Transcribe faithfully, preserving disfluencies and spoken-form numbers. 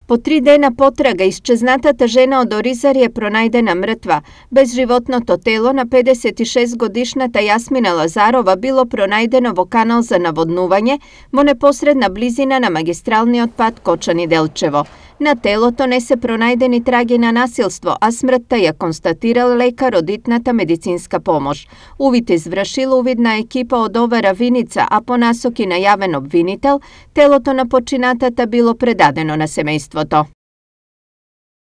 По три дена потрага, исчезнатата жена од Оризари е пронајдена мртва. Безживотното тело на педесет и шест годишната Јасмина Лазарова било пронајдено во канал за наводнување во непосредна близина на магистралниот пат Кочани-Делчево. На телото не се пронајдени траги на насилство, а смртта ја констатирал лекар од итната медицинска помош. Увид извршил увидна екипа од Овера Виница, а по насоки на јавен обвинител, телото на починатата било предадено на семејството.